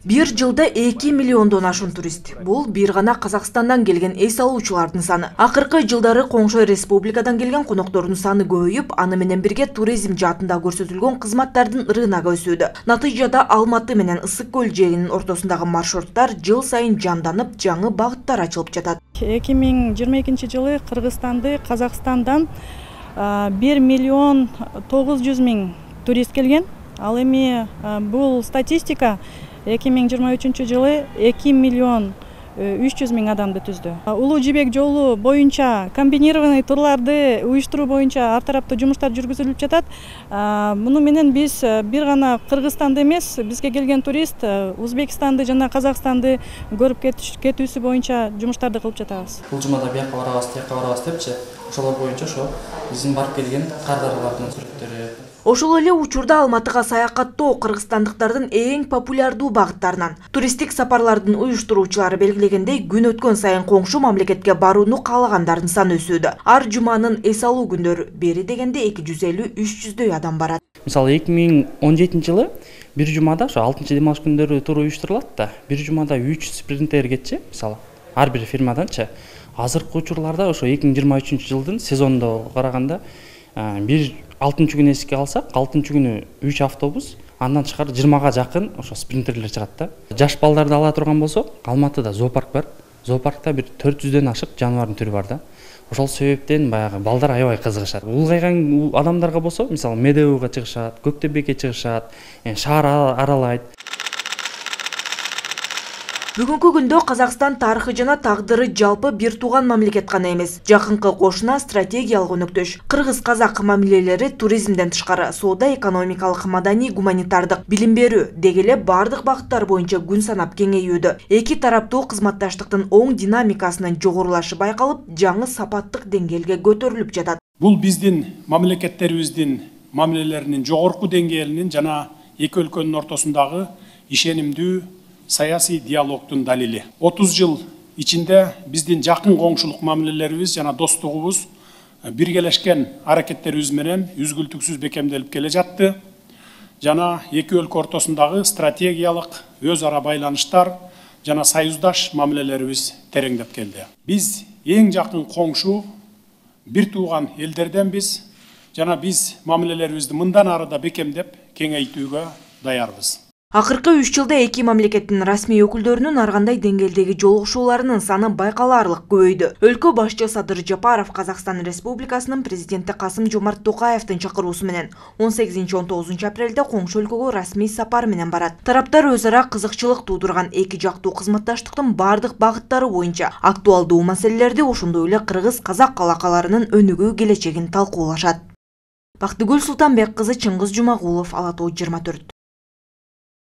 Бир жылда 2 миллиондон ашуун турист. Бул бир гана Казакстандан келген эс алуучулардын саны. Акыркы жылдары коңшу республикадан келген коноктордун саны көбөйүп, аны менен бирге туризм жаатында көрсөтүлгөн кызматтардын рыногу өсүүдө. Натыйжада Алматы менен Ысык көл жээгинин ортосундагы маршруттар жыл сайын жанданып, жаңы багыттар ачылып жатат. 2022-жылы Кыргызстанды Казакстандан 1 миллион 900 миң турист келген. Ал эми бул статистика 2023-жылы 2 миллион 300 миң адамды түздү. Улуу жибек жолу боюнча комбинированный турларды уюштуруу боюнча ар тараптуу жумуштар жүргүзүлүп жатат. Муну менен биз бир гана Кыргызстанды эмес, бизге келген турист Өзбекстанды жана Казакстанды көрүп кетүүсү боюнча жумуштарды кылып жатабыз. Бул жумада бияка барабыз, тияка барабыз депчи, ошолор боюнча ошо биздин барып келген кардарлардын сүрөттөрү. Ошол эле учурда Алматыга саякаттоо кыргызстандыктардын эң популярдуу багыттарынан. Туристтик сапарлардын уюштуруучулары белгилегендей, күн өткөн сайын коңшу мамлекетке барууну каалагандардын саны өсүүдө. Ар жуманын эс алуу күндөрү бери дегенде 250-300дөй адам барат. Мисалы 2017-жылы бир жумада ошо 6-демалыш күндөрү тур уюштурулат да. Бир жумада 3 спринтер кетчи, мисалы, ар бир фирмаданчы. Азыркы учурларда ошо 2023-жылдын сезондо караганда бир 6-күнү эске алсак, 6-күнү 3 автобус, андан тышкары 20га жакын ошо спринтерлер чыгат да. Жаш балдарды ала турган болсок, Алматыда зоопарк бар. Зоопаркта бир 400дөн ашык жаныбардын түрү бар да. Ошол себептен баягы балдар аябай кызыгышат. Улгайган адамдарга болсо, мисалы, Медеуга чыгышат, Көктөбекке чыгышат, шаар аралайт. Бүгүнкү күндө Казакстан тарыхы жана тагдыры жалпы бир тууган мамлекет гана эмес. Жакынкы кошуна стратегиялык өнөктөш. Кыргыз-казак мамилелери туризмден тышкары соода, экономикалык, маданий, гуманитардык, билим берүү деги эле бардык багыттар боюнча күн санап кеңейүүдө. Эки тараптуу кызматташтыктын оң динамикасынын жогорулашы байкалып, жаңы сапаттык деңгээлге көтөрүлүп жатат. Бул биздин мамлекеттерибиздин мамилелеринин жогорку деңгээлинин жана эки өлкөнүн ортосундагы ишенимдүү саясий диалогдун далили. 30 жыл ичинде биздин жакын коңшулук мамилелерибиз жана достугубуз биргелешкен аракеттерибиз менен үзгүлтүксүз бекемделип келе жатты. Жана эки өлкө ортосундагы стратегиялык өз ара байланыштар жана союздаш мамилелерибиз тереңдеп келди. Биз эң жакын коңшу бир тууган элдерденбиз жана биз мамилелерибизди мындан ары да бекемдеп кеңейтүүгө даярбыз. Акыркы 3 жылда эки мамлекеттин расмий өкүлдөрүнүн ар кандай деңгээлдеги жолугушууларынын саны байкалаарлык көбөйдү. Өлкө башчы Садыр Жапаров Казакстан Республикасынын президенти Касым-Жомарт Токаевдин чакыруусу менен 18-19 апрелде коңшу өлкөгө расмий сапар менен барат. Тараптар өз ара кызыкчылык туудурган эки жактуу кызматташтыктын бардык багыттары боюнча актуалдуу маселелерди, ошондой эле кыргыз-казак алакаларынын өнүгүү келечегин талкуулашат. Бактыгүл Султанбек кызы, Чыңгыз Жумагулов, Ала Тоо 24.